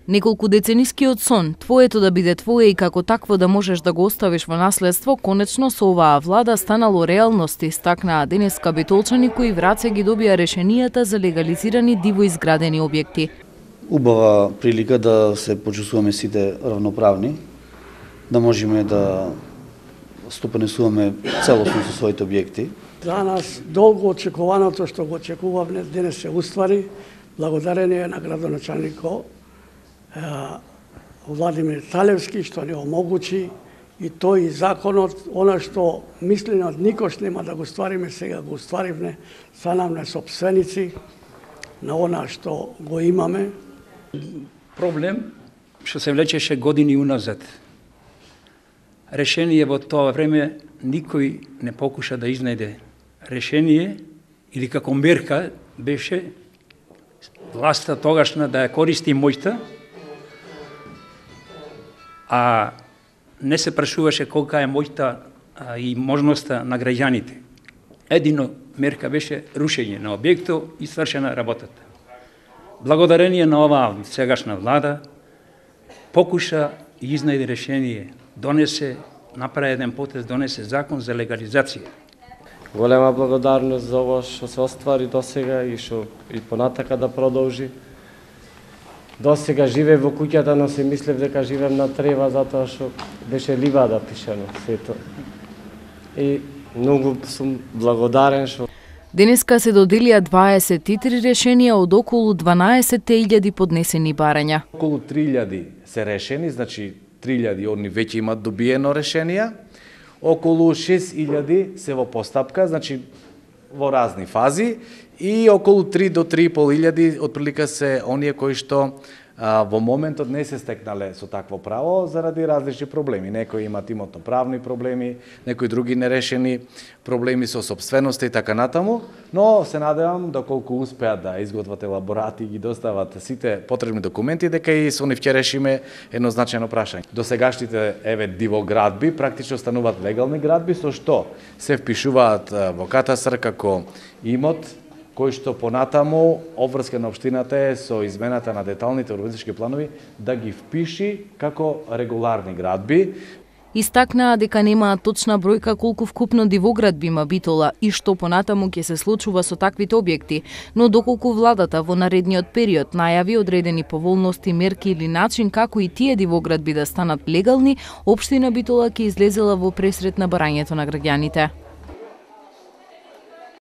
Неколку деценискиот сон, твоето да биде твое и како такво да можеш да го оставиш во наследство, конечно со оваа влада станало реалност, истакнаа денеска битолчани кои враце ги добија решенијата за легализирани диво изградени објекти. Убава прилика да се почувствуваме сите равноправни, да можеме да стопанесуваме целосно со своите објекти. За нас долго очекуваното што го очекувавме денес се уствари, благодарение на градоначалникот Владимир Талевски што ни омогучи и тој законот, она што мислено никош нема да го ствариме, сега го стваривме, станавме сопственици на она што го имаме. Проблем што се влечеше години уназад. Решение во тоа време никој не покуша да изнајде решение или како мерка беше власта тогашна да ја користи моќта, а не се прашуваше колка е моќта и можноста на граѓаните. Едино мерка беше рушење на објектот и свршена работата. Благодарение на оваа сегашна влада покуша и изнајде решение, донесе, направи еден потез, донесе закон за легализација. Голема благодарност за ова што се оствари досега и што и понатака да продолжи. Досега живеев во куќата, но се мислев дека живеем на трева затоа што беше ливада пишано сето. И многу сум благодарен што денеска се доделија 23 решенија од околу 12.000 поднесени барања. Околу 3.000 се решени, значи 3.000 они веќе имат добиено решенија. Околу 6.000 се во постапка, значи во разни фази, и околу 3 до 3.500 отприлика се оние кои што во моментот не се стекнале со такво право заради различни проблеми. Некои имат имотно-правни проблеми, некои други нерешени проблеми со сопственоста и така натаму, но се надевам доколку успеат да изготват елаборати и ги достават сите потребни документи, дека и со нив ќе решиме едно значајно прашање. Досегашните дивоградби практично стануваат легални градби, со што се впишуваат во катастар како имот кој што понатаму обврска на општината е со измената на деталните урбанистички планови да ги впиши како регуларни градби. Истакнаа дека немаат точна бројка колку вкупно дивоградби има Битола и што понатаму ќе се случува со таквите објекти, но доколку владата во наредниот период најави одредени поволности, мерки или начин како и тие дивоградби да станат легални, општина Битола ќе излезела во пресрет на барањето на граѓаните.